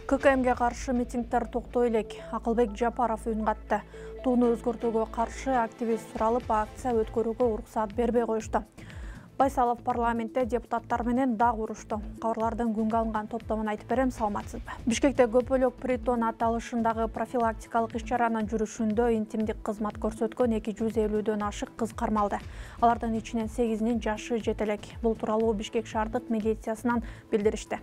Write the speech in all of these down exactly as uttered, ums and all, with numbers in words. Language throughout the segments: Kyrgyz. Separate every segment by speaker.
Speaker 1: К К Мге каршы митингдер токтой элек. Акылбек Жапаров үн катты. Тууну өзгөртүүгө каршы активист суралып, акция өткөрүүгө уруксаат бербей коюшту. Байсалов парламентте депутаттар менен дагы урушту. Кабарлардын күнгө алынган топтомун айтып берем, саламатсызбы. Бишкекте көпөлөк притон аталышындагы профилактикалык иш-чаранын жүрүшүндө интимдик кызмат көрсөткөн эки жүз элүүдөн ашык кыз кармалды. Алардын ичинен сегизинин жашы жете элек. Бул тууралуу Бишкек шаардык милициясынан билдиришти.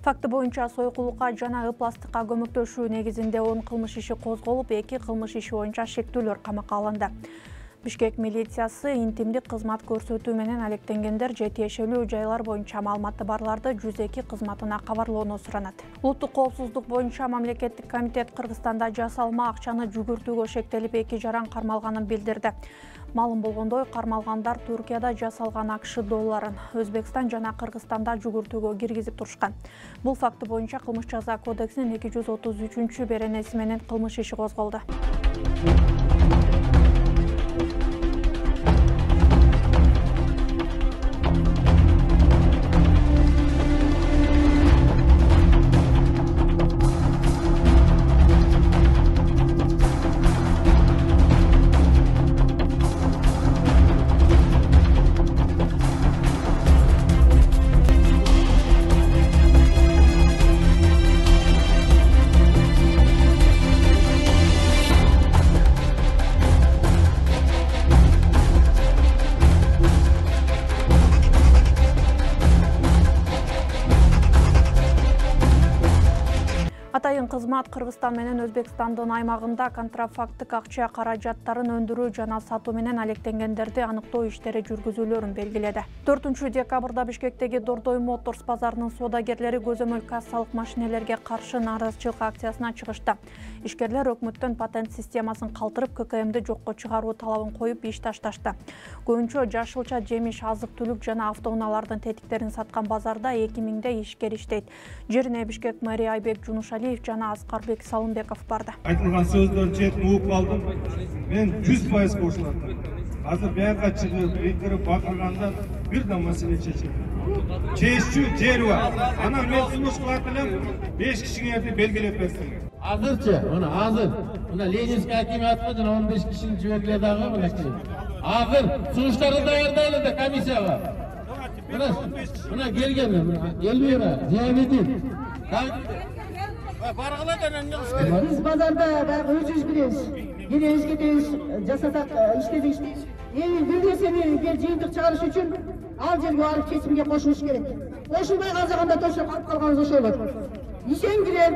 Speaker 1: Факты боюнча сойкулукка жана ыпластыкка көмөктөшүү негизинде он кылмыш иши козголуп, эки кылмыш иши боюнча шектүүлөр камакка алынды. Бишкек милициясы интимдик кызмат көрсөтүү менен алектенгендер же тиешелүү жайлар боюнча маалыматы барларды жүз эки кызматына кабарлоону суранат. Улуттук коопсуздук боюнча мамлекеттик комитет Кыргызстанда жасалма акчаны жүгүртүүгө шектелип эки жаран кармалганын билдирди. Маалым болгондой, кармалгандар Туркияда жасалган АКШ долларын Өзбекстан жана Кыргызстанда жүгүртүүгө киргизип турушкан. Бул факты боюнча кылмыш жаза кодексинин эки жүз отуз үчүнчү беренеси менен кылмыш иши козголду. Атайын кызмат Кыргызстан менен Өзбекстандын аймагында контрафактык акча каражаттарын өндүрүү жана сатуу менен алектенгендерди аныктоо иштери жүргүзүүлөрүн белгиледи. төртүнчү декабрда Бишкектеги Дордой Моторс базарынын соодагерлери көзөмөл кассалык машинелерге каршы нааразычылык акциясына чыгышты. Ишкерлер өкмөттөн патент системасын калтырып, К К Мди жокко чыгаруу талабын коюп иш ташташты. Көбүнчө жашылча жемиш, азык-түлүк жана автоунаалардын тетиктерин саткан базарда эки миңдей ишкер иштейт. Жерине Бишкек мэри Айбек Жунушалиев жана Аскарбек Салымбеков барды.
Speaker 2: Айтылган сөздөрдү жетип угуп калдым. Мен жүз пайыз кошулат. Азыр буяка чыгып, эйкирип бакырганда бир да маселе чечилди. Чечүү жер бар. Анан мен сунуш кылат элем, беш кишиңерди белгилеп берсиң.
Speaker 3: Азырчы, мына азыр, мына Ленинский акимиатка жана он беш кишини жибергиле дагы мынакей. Азыр сунуштарды даярдайлы да комиссияга. Мына, мына келген, Элвира, Диабетин.
Speaker 4: Biz pazarda özüz biliriz. Yine eskideniz jasasak işledik. Eğer bir nesini bir jıyıntık çağırış üçün al жерге alып kesimge koşuluş gerek. Koşulmay kalacağında toşup kalıp kalganız oşu olur. İşen girer.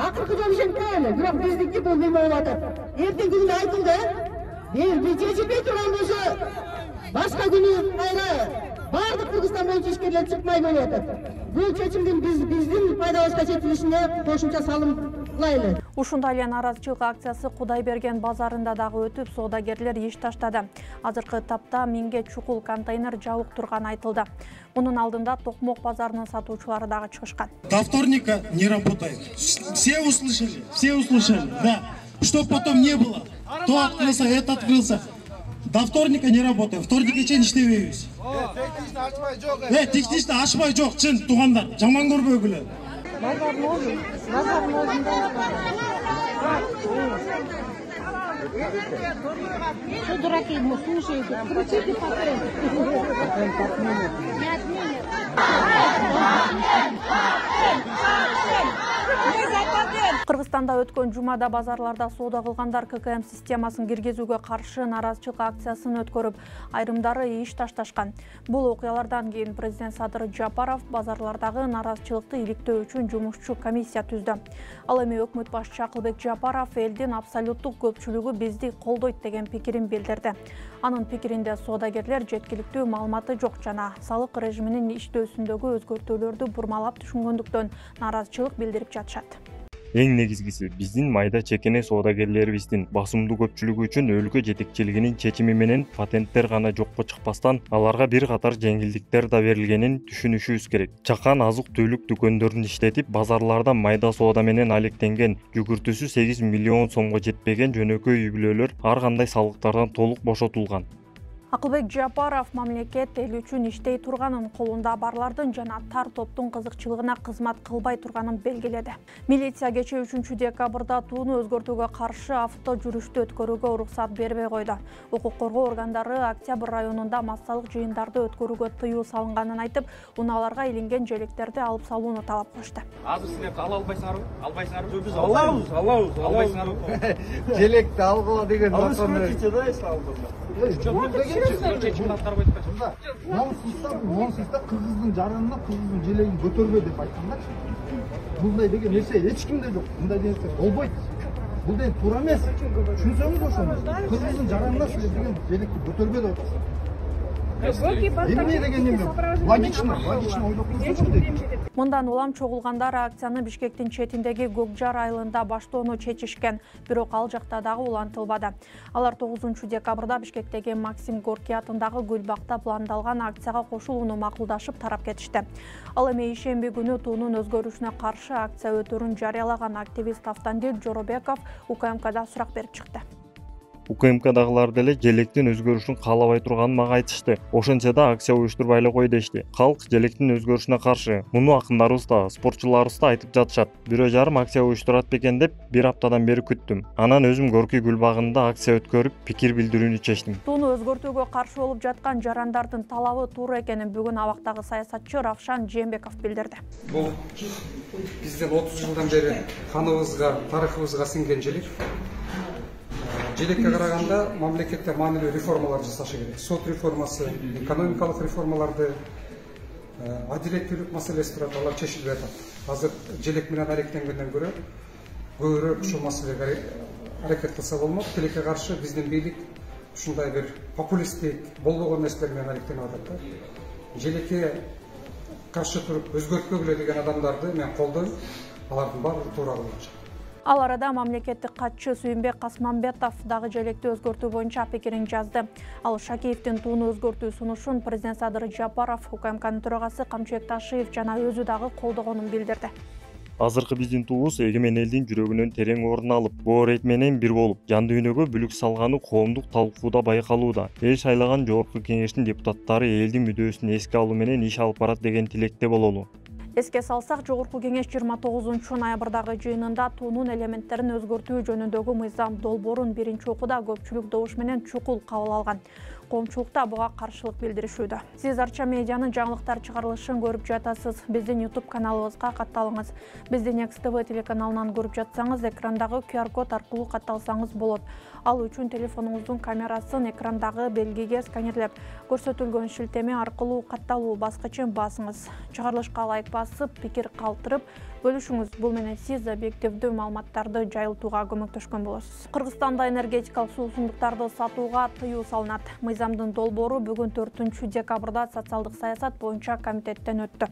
Speaker 4: Akırkı jol işen değil. Bırak bizdeki bu bilme oladır. Erten gününde aytıldı. Bir bir çeşitmeyi turan olsa başka günü kayra. Бардык Кыргызстан боюнча ишкерлер чыкмай болуп. Бул чечимдин биз биздин пайдабызга жетилишине кошумча салым кылайлы.
Speaker 1: Ушундай эле нааразычылык акциясы Кудайберген базарында дагы өтүп, соодагерлер иш таштады. Азыркы тапта миңге чукул контейнер жабык турганы айтылды. Мунун алдында Токмок базарынын сатуучулары дагы чыгышкан.
Speaker 5: До вторника не работает. Все услышали, все услышали, да. Чтоб потом не было. То открылся, это открылся. До вторника не работает. Вторник чейин иштебейбиз. Э, технично ашпай жок, чын туугандар. Жаман көрбөгүлө.
Speaker 4: Базардын өзү, базардын өзүндө. Что дураки, мы слушаете? Крутите патент.
Speaker 1: Кыргызстанда өткөн жумада базарларда соода кылгандар ка ка эм системасын киргизүүгө каршы нааразычылык акциясын өткөрүп, айрымдары иш ташташкан. Бул окуялардан кийин президент Садыр Жапаров базарлардагы нааразычылыкты иликтөө үчүн жумушчу комиссия түздү. Ал эми өкмөт башчысы Акылбек Жапаров элдин абсолюттук көпчүлүгү бизди колдойт деген пикирин билдирди. Анын пикиринде соодагерлер жеткиликтүү маалыматы жок жана салык режиминин иштөөсүндөгү өзгөртүүлөрдү бурмалап түшүнгөндүктөн нааразычылык билдирип жатышат.
Speaker 6: Эң негизгиси биздин майда чекене соодагерлерибиздин басымдуу көпчүлүгү үчүн өлкө жетекчилигинин чечими менен патенттер гана жокко чыкпастан аларга бир катар жеңилдиктер да берилгенин түшүнүшүбүз керек. Чакан азык-түлүк дүкөндөрүн иштетип, базарларда майда соода менен алектенген, жүгүртүүсү сегиз миллион сомго жетпеген жөнөкөй үй бүлөлөр ар кандай салыктардан толук бошотулган.
Speaker 1: Акылбек Жапаров мамлекет эл үчүн иштей турганын, колунда барлардын жана тар топтун кызыкчылыгына кызмат кылбай турганын белгиледи. Милиция кечээ үчүнчү декабрда тууну өзгөртүүгө каршы авто жүрүштү өткөрүүгө уруксат бербей койду. Укук коргоо органдары Октябрь районунда массалык жыйындарды өткөрүүгө тыюу салынганын айтып, унааларга илинген желектерди алып салууну талап кылышты.
Speaker 7: Азыр силер ала албайсыңарбы? Албайсыңарбы? Биз алабыз, алабыз, албайсыңарбы? Желекти алгыла деген максатта
Speaker 8: Монсузда кыргыздын жаранына кыргыздын желегин көтөрбө деп айткандарчы. Мындай деген нерсе эч кимде жок. Мындай нерсе болбойт. Бул деген туура эмес. Түшүнсөңүз ошону. Кыргыздын жаранына силер деген желекти көтөрбө деп атасыздар. Эмне деген эме? Логично, логично ойлоп көрсөңүз дейт.
Speaker 1: Мындан улам чогулгандар акцияны Бишкектин четиндеги Гокжар айылында баштоону чечишкен, бирок ал жакта дагы улантылбады. Алар тогузунчу декабрда Бишкектеги Максим Горький атындагы Гүлбакта пландалган акцияга кошулууну макулдашып тарап кетишти. Ал эми ишемби күнү туунун өзгөрүшүнө каршы акция өтөрүн жарыялаган активист Автандил Жоробеков У К М Кда сурак берип чыкты.
Speaker 6: У К М Кдагылар деле желектин өзгөрүшүн каалабай турганын мага айтышты. Ошентсе да акция уюштурбай эле кой дешти. Калк желектин өзгөрүшүнө каршы. Муну акындарыбыз да, спортчуларыбыз да айтып жатышат. Бирөө жарым акция уюштурат бекен деп бир аптадан бери күттүм. Анан өзүм Горький гүлбагында акция өткөрүп, пикир билдирүүнү чечтим.
Speaker 1: Тууну өзгөртүүгө каршы болуп жаткан жарандардын талабы туура экенин бүгүн абактагы саясатчы Равшан Жээнбеков билдирди.
Speaker 9: Бул биздин отуз жылдан бери каныбызга, тарыхыбызга сиңген желек. Желекке караганда мамлекетте маанилүү реформалар жасашы керек. Сот реформасы, экономикалык реформаларды, адилеттүүлүк маселеси турат, алар чечилбей атат. Азыр желек менен алектенгенден көрө көбүрөөк ушул маселеге аракет кылса болмок. Тилекке каршы биздин бийлик ушундай бир популисттик болбогон нерселер менен алектенип атат. Желекке каршы туруп өзгөрткөгүлө деген адамдарды мен колдойм. Алардын баары туура кылышат.
Speaker 1: Ал арада мамлекеттик катчы Сүйүнбек Касманбетов дагы желекти өзгөртүү боюнча пикирин жазды. Ал Шакиевдин тууну өзгөртүү сунушун президент Садыр Жапаров, У К М Кнын төрагасы Камчыбек Ташиев жана өзү дагы колдогонун билдирди.
Speaker 6: Азыркы биздин туубуз эгемен элдин жүрөгүнөн терең орун алып, боо рейт менен бир болуп, жан дүйнөгө бүлүк салганы коомдук талкууда байкалууда. Эл шайлаган жогорку кеңештин депутаттары элдин мүдөөсүн эске алуу менен иш алып барат деген тилекте бололу.
Speaker 1: Эске салсак, жогорку кеңеш жыйырма тогузунчу ноябрдагы жыйынында туунун элементтерин өзгөртүү жөнүндөгү мыйзам долбоорун биринчи окууда көпчүлүк добуш менен чукул кабыл алган. Коомчулукта буга каршылык билдиришүүдө. Сиз Арча медианын жаңылыктар чыгарылышын көрүп жатасыз. Биздин YouTube каналыбызга катталыңыз. Биздин Экс Т В телеканалынан көрүп жатсаңыз, экрандагы Q R код аркылуу катталсаңыз болот. Ал үчүн телефонуңуздун камерасын экрандагы белгиге сканерлеп, көрсөтүлгөн шилтеме аркылуу катталуу баскычын басыңыз. Чыгарылышка лайк басып, пикир калтырып бөлүшүңүз. Бул менен сиз объективдүү маалыматтарды жайылтууга көмөктөшкөн болосуз. Кыргызстанда энергетикалык суусундуктарды сатууга тыюу салынат. Мыйзамдын долбоору бүгүн төртүнчү декабрда социалдык саясат боюнча комитеттен өттү.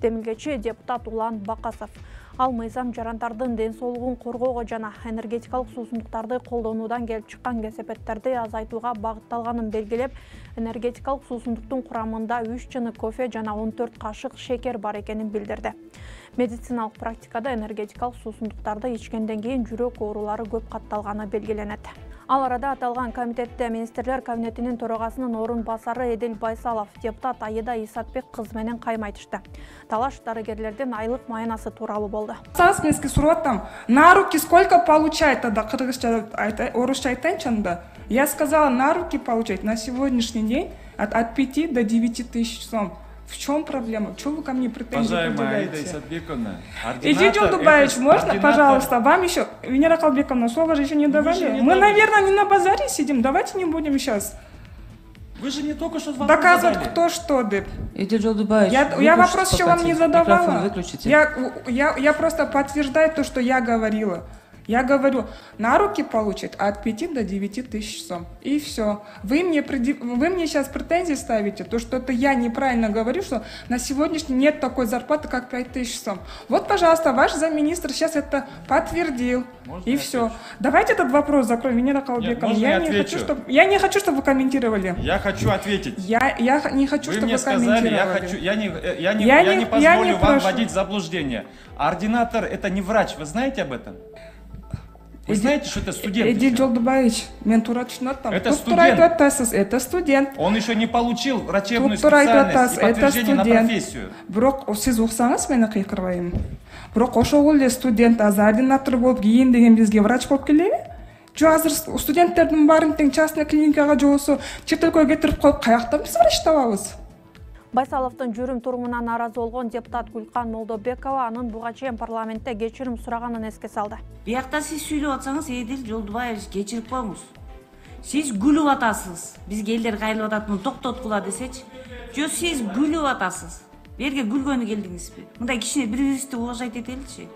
Speaker 1: Демилгечи депутат Улан Бакасов. Ал мыйзам жарандардын ден соолугун коргоого жана энергетикалык суусундуктарды колдонуудан келип чыккан кесепеттерди азайтууга багытталганын белгилеп, энергетикалык суусундуктун курамында үч чыны кофе жана он төрт кашык шекер бар экенин билдирди. Медициналык практикада энергетикалык суусундуктарды ичкенден кийин жүрөк оорулары көп катталганы белгиленет. Ал арада аталган комитетте министрлер кабинетинин төрагасынын орун басары Эдил Байсалов, депутат Айда Исатбек кызы менен кайма айтышты. Талаш дарыгерлердин айлык майнасы тууралуу болду.
Speaker 10: Сасминский сурат там на руки сколько получает тогда кыргызча, орусча айтайынчы анда. Я сказала на руки получать на сегодняшний день от, от пяти до девяти тысяч сом. В чем проблема? Чего вы ко мне претензии
Speaker 11: Уважаемая Аида
Speaker 10: предъявляете?
Speaker 11: Исатбековна,
Speaker 10: Эдиль Жолдубаевич, можно, пожалуйста, вам еще, Венера Калбековна, слово же еще не давали.
Speaker 11: не
Speaker 10: Мы,
Speaker 11: давали.
Speaker 10: наверное, не на базаре сидим, давайте не будем сейчас
Speaker 11: Вы же не только что вопрос
Speaker 10: доказывать,
Speaker 11: задали.
Speaker 10: кто что, деп.
Speaker 12: Эдиль Жолдубаевич,
Speaker 10: Я, я вопрос еще вам не
Speaker 12: Микрофон
Speaker 10: задавала.
Speaker 12: выключите.
Speaker 10: Я, я, я просто подтверждаю то, что я говорила. Я говорю, на руки получат от пяти до девяти тысяч сом. И все. Вы мне, преди- вы мне сейчас претензии ставите, то, что это я неправильно говорю, что на сегодняшний нет такой зарплаты, как пять тысяч сом. Вот, пожалуйста, ваш замминистра сейчас это подтвердил.
Speaker 11: Можно
Speaker 10: и
Speaker 11: я
Speaker 10: все.
Speaker 11: отвечу?
Speaker 10: Давайте этот вопрос закроем. Венера Калбековна.
Speaker 11: можно
Speaker 10: я,
Speaker 11: я
Speaker 10: не
Speaker 11: отвечу?
Speaker 10: хочу, чтобы, я не хочу, чтобы вы комментировали.
Speaker 11: Я хочу ответить.
Speaker 10: Я, я не хочу,
Speaker 11: Вы
Speaker 10: чтобы
Speaker 11: мне
Speaker 10: вы
Speaker 11: сказали, я
Speaker 10: комментировали.
Speaker 11: хочу, я не, э, я не,
Speaker 10: Я
Speaker 11: я
Speaker 10: не-
Speaker 11: не
Speaker 10: я
Speaker 11: позволю
Speaker 10: не
Speaker 11: вам
Speaker 10: прошу.
Speaker 11: вводить в заблуждение. Ординатор это не врач, вы знаете об этом? Вы
Speaker 10: Эди-
Speaker 11: знаете, что это студент?
Speaker 10: Эдиль
Speaker 11: еще?
Speaker 10: Жолдубаевич, мен туура түшүнүп
Speaker 11: Это
Speaker 10: Туп туура
Speaker 11: студент.
Speaker 10: айтып атасыз, это студент.
Speaker 11: Он еще не получил врачебную
Speaker 10: Туп туура айтып
Speaker 11: специальность
Speaker 10: атасыз,
Speaker 11: и
Speaker 10: это
Speaker 11: подтверждение на
Speaker 10: студент.
Speaker 11: профессию.
Speaker 10: Бирок сиз уксаңыз мени кыйкырбайм. Бирок ошол эле студент азыр ординатор болуп кийин деген бизге врач болуп келеби? Жо азыр студенттердин баарын тең частный клиникага же болбосо чет өлкөгө кетирип коюп каяктан биз врач табабыз?
Speaker 1: Байсаловдун жүрүм турумуна нааразы болгон депутат Гүлкан Молдобекова анын буга чейин парламентте кечирим сураганын эске салды.
Speaker 12: Биякта сиз сүйлөп атсаңыз, Эдиль Жолдубаевич кечирип коюңуз. Сиз күлүп атасыз. Бизге элдер кайрылып атат, муну токтоткула десечи. Жо сиз күлүп атасыз. Берге күлгөнү келдиңизби? Мындай кичине бири-бирибизди уважать этеличи.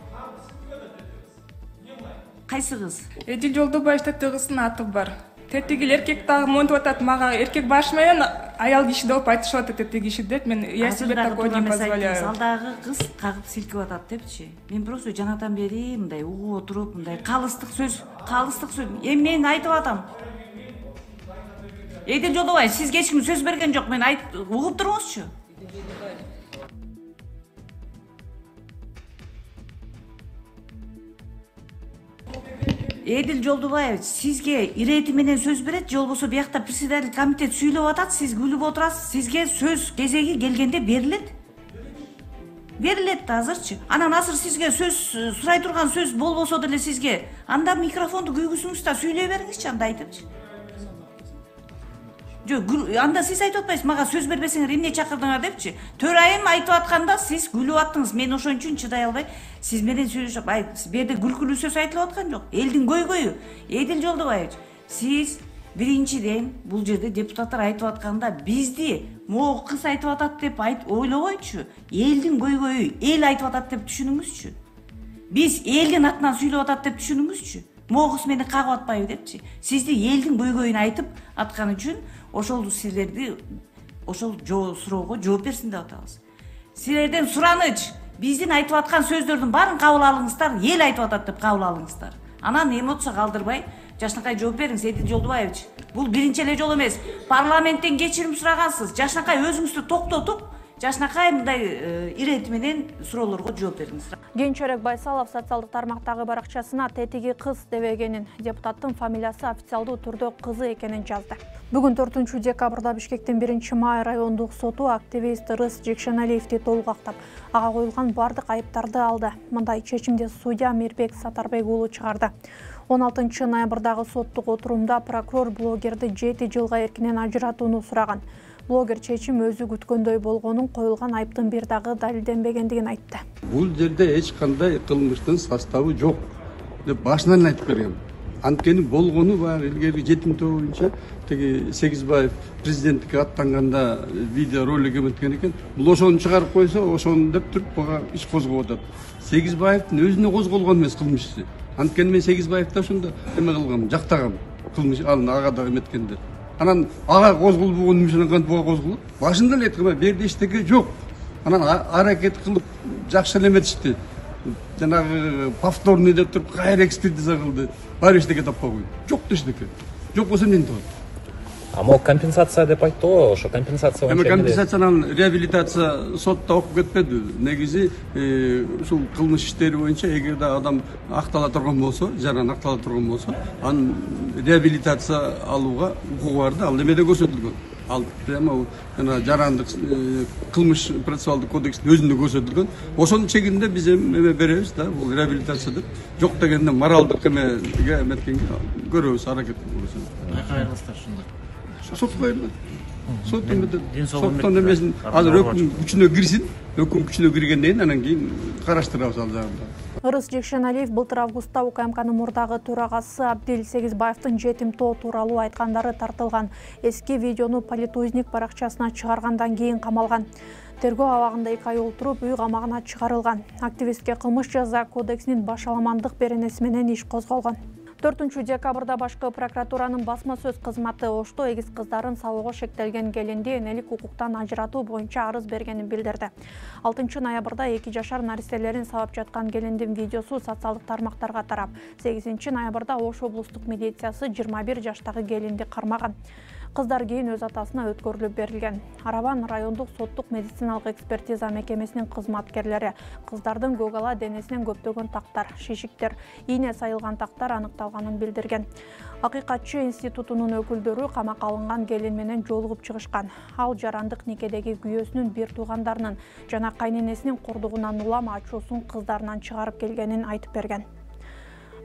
Speaker 12: Кайсы кыз?
Speaker 10: Эдиль Жолдубаевич тетигисинин аты бар. Тетигил эркек дагы монтип атат, мага эркек баш менен аял киши деп айтышып атат тетиг киши деп. Мен я себе такое не позволяю.
Speaker 12: Алдагы кыз кагып силкип атат депчи. Мен просто жанатан бери мындай угуп отуруп, мындай калыстык сөз, калыстык сөз. Эми мен айтып атам. Эдиль Жолдубаевич, сизге эч ким сөз берген жок. Мен айт угуп туруңузчу. Эдиль Жолдубаевич, сизге ирети менен сөз берет, же болбосо биякта председатель комитет сүйлөп атат, сиз күлүп отурасыз, сизге сөз кезеги келгенде берилет. Берилет да азырчы. Анан азыр сизге сөз сурай турган сөз болбосо деле сизге анда микрофонду күйгүзүңүз да сүйлөй бериңизчи, анда айтыпчы. Жок, анда сиз айтып атпайсыз, мага сөз бербесеңер эмне чакырдыңар депчи. Төрайым айтып атканда сиз күлүп аттыңыз. Мен ошон үчүн чыдай албай, сиз менен сүйлөшүп, ай, берде күлкүлүү сөз айтылып аткан жок. Элдин көйгөйү. Эдиль Жолдубаевич, сиз биринчиден бул жерде депутаттар айтып атканда бизди могу кыз айтып атат деп айт ойлобойчу. Элдин көйгөйү, эл айтып атат деп түшүнүңүзчү. Биз элдин атынан сүйлөп атат деп түшүнүңүзчү. Могу кыз мени кагып атпайбы депчи. Сизди элдин көйгөйүн айтып аткан үчүн ошол силерди ошол суроого жооп берсин деп атабыз. Силерден сураныч, биздин айтып аткан сөздөрдүн баарын кабыл алыңыздар, эл айтып атат деп кабыл алыңыздар. Анан эмоция калтырбай, Жашнакай жооп бериңиз, Эдиль Жолдубаевич. Бул биринчи эле жол эмес. Парламенттен кечирим сурагансыз. Жашнакай өзүңүздү токтотуп, Жашнакай мындай ирети менен суроолорго жооп бериңиз.
Speaker 1: Кийинчерээк Байсалов социалдык тармактагы баракчасына тетиги кыз дебегенин, депутаттын фамилиясы официалдуу түрдө кызы экенин жазды. Бүгүн төртүнчү декабрда Бишкектин биринчи май райондук соту активист Рыс Жекшеналиевди толук актап, ага коюлган бардык айыптарды алды. Мындай чечимди судья Мирбек Сатарбек уулу чыгарды. он алтынчы ноябрдагы соттук отурумда прокурор блогерди жети жылга эркинен ажыратууну сураган. Блогер чечим өзү күткөндөй болгонун, коюлган айыптын бир дагы далилденбегендигин айтты.
Speaker 13: Бул жерде эч кандай кылмыштын составы жок деп башынан айтып берген. Анткени болгону баягы илгерки жетим тобу боюнча тиги Сегизбаев президенттикке аттанганда видео ролик эметкен экен. Бул ошону чыгарып койсо, ошону деп туруп бага иш козгоп атат. Сегизбаевдин өзүнө козголгон эмес кылмышчы. Анткени мен Сегизбаевди ошондо эме кылгам, жактагам. Кылмыш аны ага да эметкенде. Анан ага козголбогон үчүн кантип буга козголот? Башында эле айткан, берде эчтеке жок. Анан аракет кылып жакшы эле эметишти. Жанагы повторный деп туруп кайра экспертиза кылды. Баары эчтеке таппай койду. Жок эчтеке. Жок болсо эмне болот?
Speaker 14: А могу компенсация деп айтты го, ошо компенсация
Speaker 13: Эми компенсациянын реабилитация сотто окуп кетпеди. Негизи ушул кылмыш иштери боюнча эгерде адам актала турган болсо, жаран актала турган болсо, анын реабилитация алууга укугу бар да, ал эмеде көрсөтүлгөн. Ал прямо жана жарандык кылмыш процессуалдык кодекстин өзүндө көрсөтүлгөн. Ошонун чегинде биз эме беребиз да, бул реабилитация деп. Жок дегенде моралдык эмеге эметкенге көрөбүз, аракет кылабыз.
Speaker 3: Кайра кайрыласыздар ушунда.
Speaker 13: Сот койду. сот соттон эмесин азыр өкүм күчүнө кирсин, өкүм күчүнө киргенден кийин анан кийин караштырабыз ал жагында.
Speaker 1: Ырыс Жекшеналиев былтыр августта УКМКнын мурдагы төрагасы Абдил Сегизбаевдин жетимтоо тууралуу айткандары тартылган эски видеону Политузник баракчасына чыгаргандан кийин камалган. Тергөө абагында эки ай отуруп үй камагына чыгарылган. Активистке кылмыш жаза кодексинин башаламандык беренеси менен иш козголгон. төртүнчү декабрда башкы прокуратуранын басма сөз кызматы Ошто эгиз кыздарын салууга шектелген келинди энелик укуктан ажыратуу боюнча арыз бергенин билдирди. алтынчы ноябрда эки жашар наристелерин сабап жаткан келиндин видеосу социалдык тармактарга тарап, сегизинчи ноябрда Ош облустук милициясы жыйырма бир жаштагы келинди кармаган. Кыздар кийин өз атасына өткөрүлүп берилген. Арабан райондук соттук медициналык экспертиза мекемесинин кызматкерлери кыздардын көгала денесинен көптөгөн тактар, шишиктер, ийне сайылган тактар аныкталганын билдирген. Акыйкатчы институтунун өкүлдөрү камакка алынган келин менен жолугуп чыгышкан. Ал жарандык никедеги күйөөсүнүн бир туугандарынын жана кайненесинин кордугунан улам ачуусун кыздарынан чыгарып келгенин айтып берген.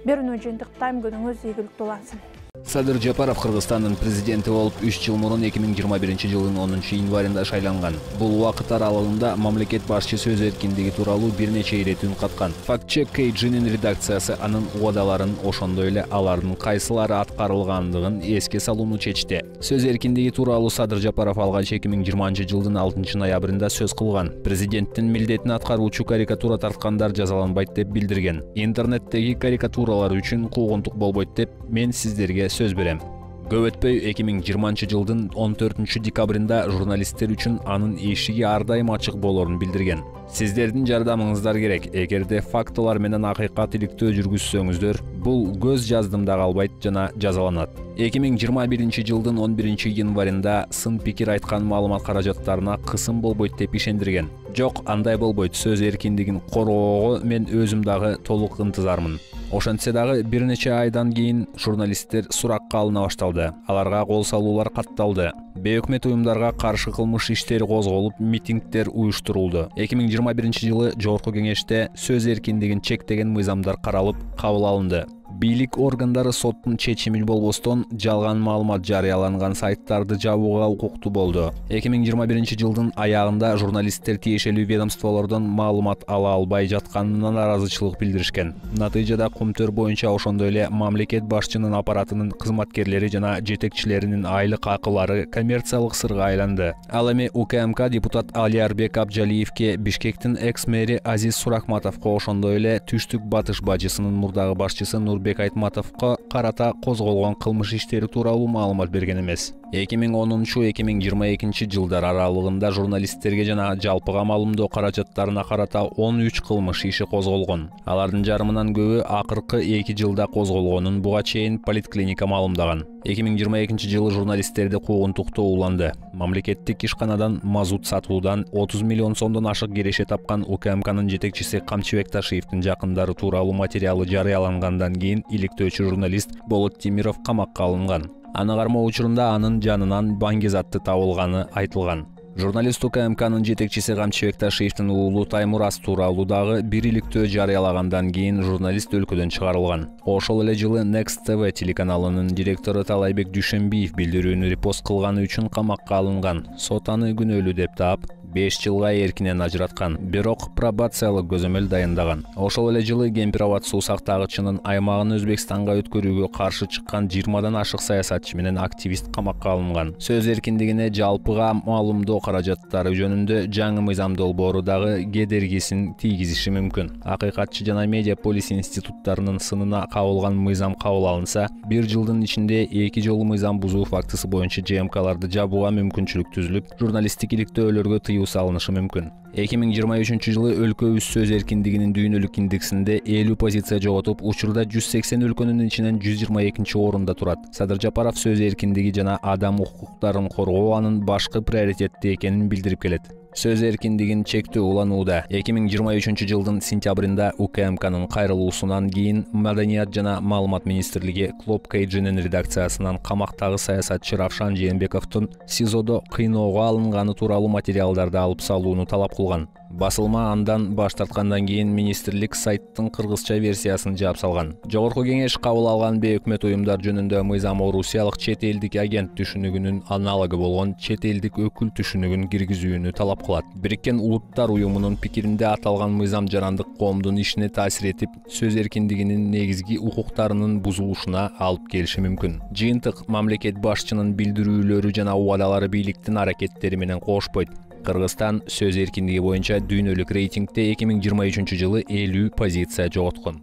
Speaker 1: Берүүнү жыйынтыктайм, күнүңүз ийгиликтүү улансын.
Speaker 15: Садыр Жапаров Кыргызстандын президенти болуп үч жыл мурун эки миң жыйырма биринчи жылдын онунчу январында шайланган. Бул убакыт аралыгында мамлекет башчы сөз эркиндиги тууралуу бир нече ирет үн каткан. Фактчек кей джинин редакциясы анын убадаларын, ошондой эле алардын кайсылары аткарылгандыгын эске салууну чечти. Сөз эркиндиги тууралуу Садыр Жапаров алгач эки миң жыйырманчы жылдын алтынчы ноябрында сөз кылган. Президенттин милдетин аткаруучу карикатура тарткандар жазаланбайт деп билдирген. Интернеттеги карикатуралар үчүн куугунтук болбойт деп мен сиздерге сөз берем. Көп өтпөй эки миң жыйырманчы жылдын он төртүнчү декабрында журналисттер үчүн анын эшиги ар дайым ачык болорун билдирген. Сиздердин жардамыңыздар керек. Эгерде фактылар менен акыйкат иликтөө жүргүзсөңүздөр, бул көз жаздымда калбайт жана жазаланат. эки миң жыйырма биринчи жылдын он биринчи январында сын пикир айткан маалымат каражаттарына кысым болбойт деп ишендирген. Жок, андай болбойт. Сөз эркиндигин коргоого мен өзүм дагы толук ынтызармын. Ошентсе дагы бир нече айдан кийин журналисттер суракка алына башталды. Аларга кол салуулар катталды. Бейөкмөт уюмдарга каршы кылмыш иштери козголуп, митингдер уюштурулду. эки миң жыйырма биринчи жылы Жогорку Кеңеште сөз эркиндигин чектеген мыйзамдар каралып, кабыл алынды. Бийлик органдары соттун чечими болбостон жалган маалымат жарыяланган сайттарды жабууга укуктуу болду. эки миң жыйырма биринчи жылдын аягында журналисттер тиешелүү ведомстволордон маалымат ала албай жатканына наразычылык билдиришкен. Натыйжада кумтөр боюнча ошондой эле мамлекет башчынын аппаратынын кызматкерлери жана жетекчилеринин айлык акылары коммерциялык сырга айланды. Ал эми УКМК депутат Алиарбек Абжалиевке, Бишкектин экс-мэри Азиз Суракматовго, ошондой эле Түштүк Батыш бажысынын мурдагы башчысы Нурбек Айтматовго карата козголгон кылмыш иштери тууралуу маалымат берген эмес. эки миң онунчу — эки миң жыйырма экинчи жылдар аралыгында журналисттерге жана жалпыга маалымдоо каражаттарына карата он үч кылмыш иши козголгон. Алардын жарымынан көбү акыркы эки жылда козголгонун буга чейин поликлиника маалымдаган. эки миң жыйырма экинчи жылы журналисттерди куугунтуктоо уланды. Мамлекеттик ишканадан мазут сатуудан отуз миллион сомдон ашык киреше тапкан УКМКнын жетекчиси Камчыбек Ташиевдин жакындары тууралуу материалы жарыялангандан кийин иликтөөчү журналист Болот Тимиров камакка алынган. Аны кармоо учурунда анын жанынан баңгизатты табылганы айтылган. Журналист УКМКнын жетекчиси Камчыбек Ташиевдин уулу Таймураз тууралуу дагы бир иликтөө жарыялагандан кийин журналист өлкөдөн чыгарылган. Ошол эле жылы Next ти ви телеканалынын директору Талайбек Дүйшөнбиев билдирүүнү репост кылганы үчүн камакка алынган. Сот аны күнөөлүү деп таап, беш жылга эркинен ажыраткан, бирок пробациялык көзөмөл дайындаган. Ошол эле жылы Кемпироват суу сактагычынын аймагын Өзбекстанга өткөрүүгө каршы чыккан жыйырмадан ашык саясатчы менен активист камакка алынган. Сөз эркиндигине жалпыга маалымдоо каражаттары жөнүндө жаңы мыйзам долбоору дагы кедергисин тийгизиши мүмкүн. Акыйкатчы жана медиа полис институттарынын сынына кабылган мыйзам кабыл алынса, бир жылдын ичинде эки жолу мыйзам бузуу фактысы боюнча ЖМКларды жабууга мүмкүнчүлүк түзүлүп, журналисттик иликтөөлөргө тыюу салынышы мүмкүн. эки миң жыйырма үчүнчү жылы өлкөбүз сөз эркиндигинин дүйнөлүк индексинде элүү позиция жоготуп, учурда жүз сексен өлкөнүн ичинен жүз жыйырма экинчи орунда турат. Садыр Жапаров сөз эркиндиги жана адам укуктарын коргоо анын башкы приоритети экенин билдирип келет. Сөз эркиндигин чектөө уланууда. эки миң жыйырма үчүнчү жылдын сентябрында УКМКнын кайрылуусунан кийин Маданият жана маалымат министрлиги Клоп Кейджинин редакциясынан камактагы саясатчы Равшан Жээнбековдун СИЗОдо кыйноого алынганы тууралуу материалдарды алып салууну талап кылган. Басылма андан баш тарткандан кийин министрлик сайттын кыргызча версиясын жаап салган. Жогорку кеңеш кабыл алган бейөкмөт уюмдар жөнүндө мыйзам орусиялык чет элдик агент түшүнүгүнүн аналогу болгон чет элдик өкүл түшүнүгүн киргизүүнү талап кылат. Бириккен Улуттар уюмунун пикиринде аталган мыйзам жарандык коомдун ишине таасир этип, сөз эркиндигинин негизги укуктарынын бузулушуна алып келиши мүмкүн. Жыйынтык мамлекет башчынын билдирүүлөрү жана убадалары бийликтин аракеттери менен кошпойт. Кыргызстан сөз эркиндиги боюнча дүйнөлүк рейтингде эки миң жыйырма үчүнчү жылы элүү позиция жоготкон.